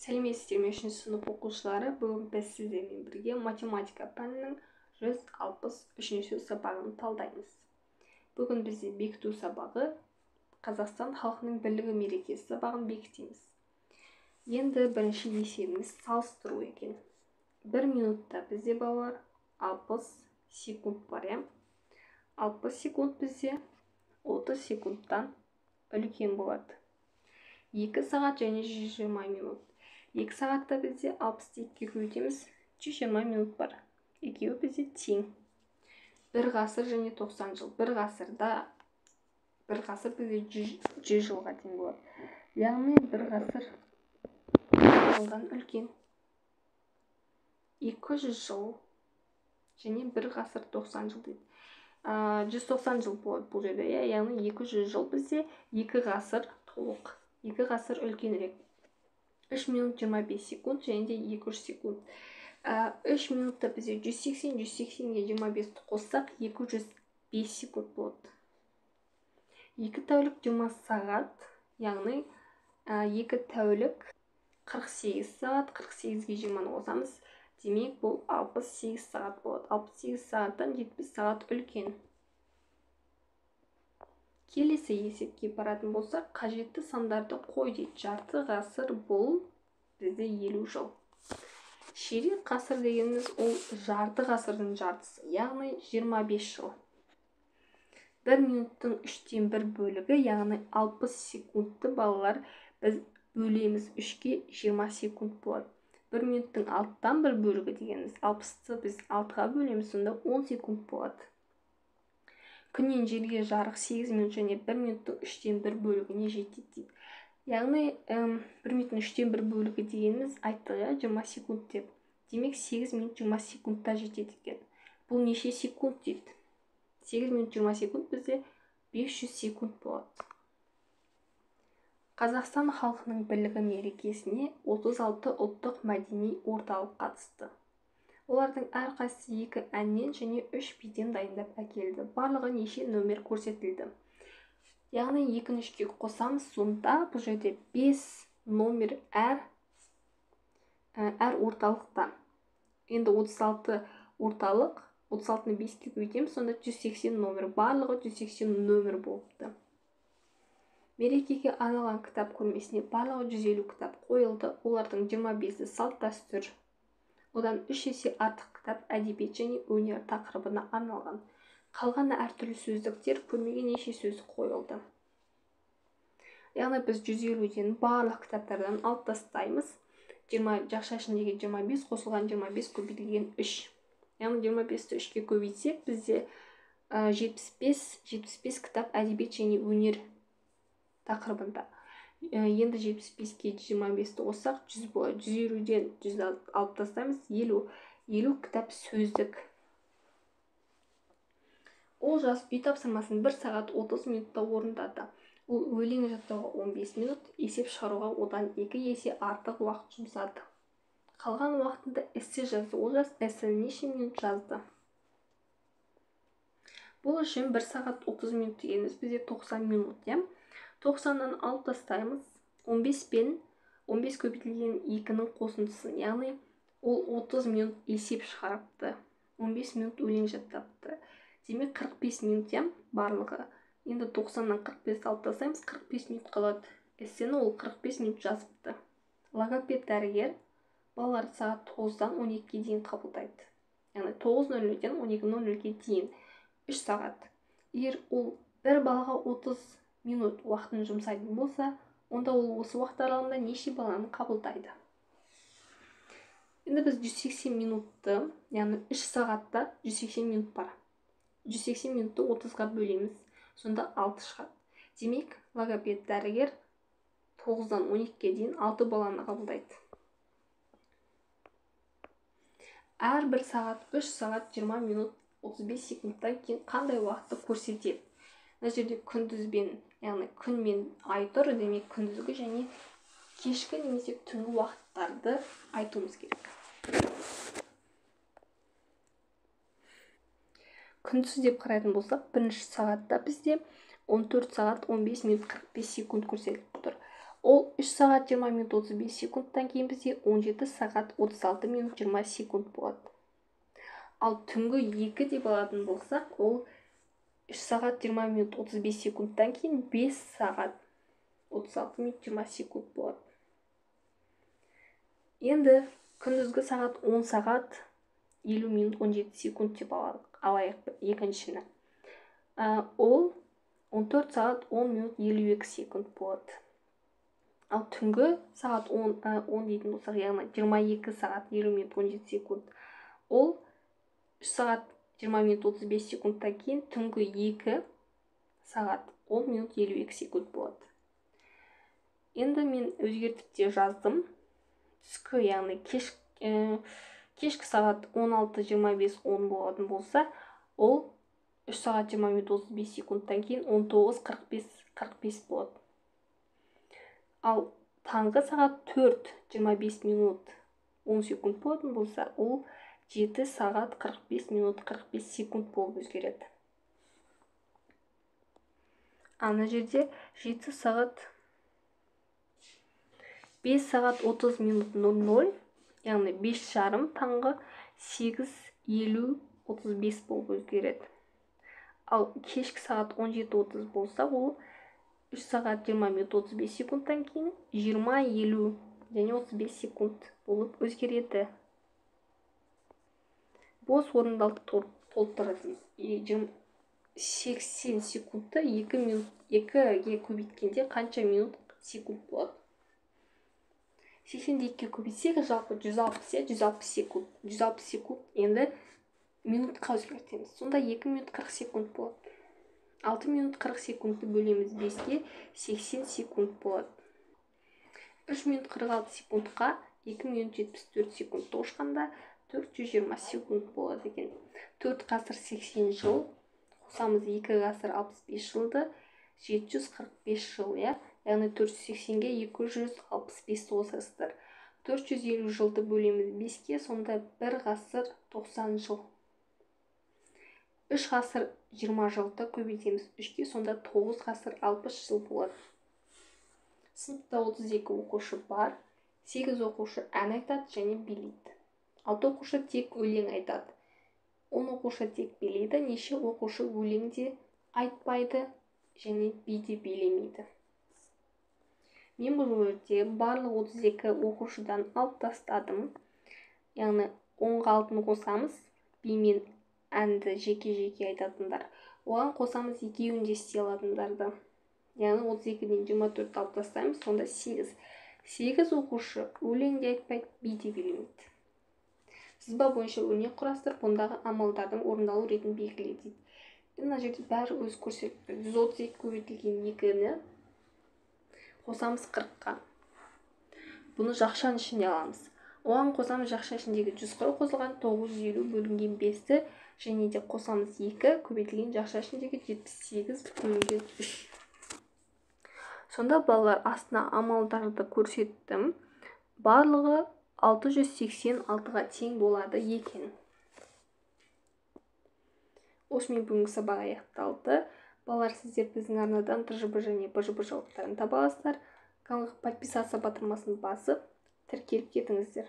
Сәлеметсіздер ме, 3 сынып оқушылары. Бүгін біз сіздермен бірге математика пәнінің 163 сабағын талдаймыз. Бүгін бізде бекіту сабағы Қазақстан халқының бірлігі мерекесі сабағын бекітеміз. Енді бірінші есебіміз салыстыру екен. 1 минутта бізде балалар 60 секунд бар, 60 секунд бізде 30 секундтан үлкен болады. 2 сағат және 120 минут. 2 сағатта бізде 62-ге көбейтеміз, 120 минут бар. Екеуі бізде тең. 1 ғасыр және 90 жыл. 1 ғасыр бізде 100 жылға тең болады. Яғни 1 ғасыр жылдан үлкен. 200 жыл және 1 ғасыр 90 жыл дейді. 190 жыл болады бұл жерде, яғни 200 жыл бізде 2 ғасыр толық. 2 ғасыр үлкенірек. 3 минут 25 секунд және де 200 секунд. 3 минутта бізде 180-ге 25 қоссақ 205 секунд болады. 2 тәулік 20 сағат, яғни 2 тәулік 48 сағат, 48-ге 20 қосамыз. Демек бұл 68 сағат болады. 68 сағаттан 70 сағат үлкен. Келесі есепке баратын болсақ, қажетті сандарды қой дейді. Жарты ғасыр бұл бізде 50 жыл. Ширек ғасыр дегеніміз ол жарты ғасырдың жартысы, яғни 25 жыл. 1 минуттың 3/1 бөлігі, яғни 60 секундты балалар біз бөлеміз 3-ке 20 секунд болады. 1 минуттың 6/1 бөлігі дегеніміз 60-ты біз 6-ға бөлеміз, сонда 10 секунд болады. Күннен жерге жарық 8 минут және 1 минуттың 3/1 бөлігіне жетеді дейді. Яғни 1 минуттың 3/1 бөлігі дегеніміз айттық 20 секунд деп. Демек 8 минут 20 секундта жетеді екен. Бұл неше секунд дейді? 8 минут 20 секунд бізде 500 секунд болады. Қазақстан халқының бірлігі мерекесіне 36 ұлттық мәдени орталық қатысты. Олардың әрқайсысы 2 әннен және 3 биден дайындап әкелді. Барлығы неше нөмір көрсетілді. Яғни 2-3-ке қосамыз, сонда бұл жерде 5 номер әр орталықта. Енді 36 орталық, 36-ны 5-ке көбейтеміз, сонда 180 номер. Барлығы 180 номер болыпты. Мерекеге арналған кітап көрмесіне барлығы 150 кітап қойылды. Олардың 25-і салт дәстүр. Одан 3 есе артық кітап әдебиет және өнер тақырыбына арналған. Қалғаны әртүрлі сөздіктер, көрмеге неше сөз қойылды. Яғни біз 150-ден барлық кітаптардан алып тастаймыз. 20 жақша ішіндегі 25 қосылған 25 көбейтілген 3. Яғни 25-ті 3-ке көбейтсек, бізде 75 кітап әдебиет және өнер тақырыбында. Енді 75-ке 25-ті қоссақ 100 болады. 150-ден 100 алып тастаймыз, 50 кітап сөздік. Ол жас үй тапсырмасын 1 сағат 30 минутта орындады. Ол өлең жаттауға 15 минут, есеп шығаруға одан 2 есе артық уақыт жұмсады. Қалған уақытында эссе жазды. Ол жас эссені неше минут жазды? Бұл үшін 1 сағат 30 минут дегеніміз бізде 90 минут, 90-нан алып тастаймыз. 15 пен 15 көбейтілген 2-ның қосындысын, яғни ол 30 минут есеп шығарыпты. 15 минут өлең жаттапты. Демек 45 минут барлығы. Енді 90-нан 45 алып тастаймыз, 45 минут қалады. Эссені ол 45 минут жазыпты. Логопед дәрігер балалар сағат 9-дан 12-ге дейін қабылдайды. Яғни 9:00-ден 12:00-ге дейін 3 сағат. Егер ол бір балаға 30 минут уақытын жұмсайтын болса, онда ол осы уақыт аралығында неше баланы қабылдайды? Енді біз 180 минутты, яғни 3 сағатта 180 минут бар. 180 минутты 30-ға бөлеміз, сонда 6 шығады. Демек, логопед дәрігер 9-дан 12-ге дейін 6 баланы қабылдайды. Әр 1 сағат 3 сағат 20 минут 35 секундтан кейін қандай уақытты көрсетеді? Мына жерде күндізбен, яғни күн мен ай тұр, демек күндізгі және кешкі немесе түнгі уақыттарды айтуымыз керек. Күндіз деп қарайтын болсақ, бірінші сағатта бізде 14 сағат 15 минут 45 секунд көрсетіліп тұр. Ол 3 сағат 20 минут 35 секундтан кейін бізде 17 сағат 36 минут 20 секунд болады. Ал түнгі 2 деп алатын болсақ, ол 3 сағат 20 минут 35 секундтан кейін 5 сағат 36 минут 20 секунд болады. Енді күндізгі сағат 10 сағат 50 минут 17 секунд деп алайық екіншіні. Ол 14 сағат 10 минут 52 секунд болады. Ал түнгі сағат 10 дейтін болсақ, яғни 22 сағат 50 минут 17 секунд. Ол 3 сағат 20 минут 35 секундтан кейін түнгі 2 сағат 10 минут 52 секунд болады. Енді мен өзгертіп те жаздым. Түскі, яғни кешкі сағат 16:25 болатын болса, ол 3 сағат 20 минут 35 секундтан кейін 19:45 болады. Ал таңғы сағат 4:25 минут 10 секунд болатын болса, ол 7 сағат 45 минут 45 секунд болып өзгереді. Ана жерде 7 сағат 5 сағат 30 минут 00, яғни 5:30 таңғы 8:50-35 болып өзгереді. Ал кешкі сағат 17:30 болса, ол 3 сағат 20 минут 35 секундтан кейін 20:50 және 35 секунд болып өзгереді. Бос орындарды толтырыңыз. 80 секундты 2-ге көбейткенде қанша минут секунд болады? 82-ге көбейтсек, жалпы 160 секунд. 160 секунд енді минутқа өзгертеміз. Сонда 2 минут 40 секунд болады. 6 минут 40 секундты бөлеміз 5-ге, 80 секунд болады. 3 минут 46 секундқа 2 минут 74 секунд қосқанда 420 секунд болады екен. 4 ғасыр 80 жыл, қосамыз 2 ғасыр 65 жылды, 745 жыл, яғни 480-ге 265 қосасыздар. 450 жылды бөлеміз 5-ге, сонда 1 ғасыр 90 жыл. 3 ғасыр 20 жылды көбейтеміз 3-ге, сонда 9 ғасыр 60 жыл болады. Сыныпта 32 оқушы бар, 8 оқушы ән айтады және билейді. 6 оқушы тек өлең айтады. 10 оқушы тек билейді, неше оқушы өлеңде айтпайды және биде билемейді. Мен бұл өрде барлық 32 оқушыдан алып тастадым. Яғни 10-ға алтын қосамыз, би мен әнді жеке-жеке айтатындар. Оған қосамыз екеуін де істей алатындарды. Яғни 32-ден 24 алып тастаймыз, сонда 8. 8 оқушы өлеңде айтпайды, биде билемейді. Сызба бойынша өрнек құрастырып, ондағы амалдардың орындалу ретін белгілейді. Мына жерде бәрі өз көрсетілді. 132 көбейтілген 2-ні қосамыз 40-қа. Бұны жақшаның ішіне аламыз. Оған қосамыз жақша ішіндегі 140 қосылған 950 бөлінген 5-ті және де қосамыз 2 көбейтілген жақша ішіндегі 78 бөлінген 3. Сонда балалар астына амалдарды көрсеттім. Барлығы 686-ға тең болады екен. Осымен бүгінгі сабақ аяқталды. Балалар, сіздер біздің арнадан ТЖБ және БЖБ жауаптарын таба аласыздар. Каналға подписаться батырмасын басып, тіркеліп кетіңіздер.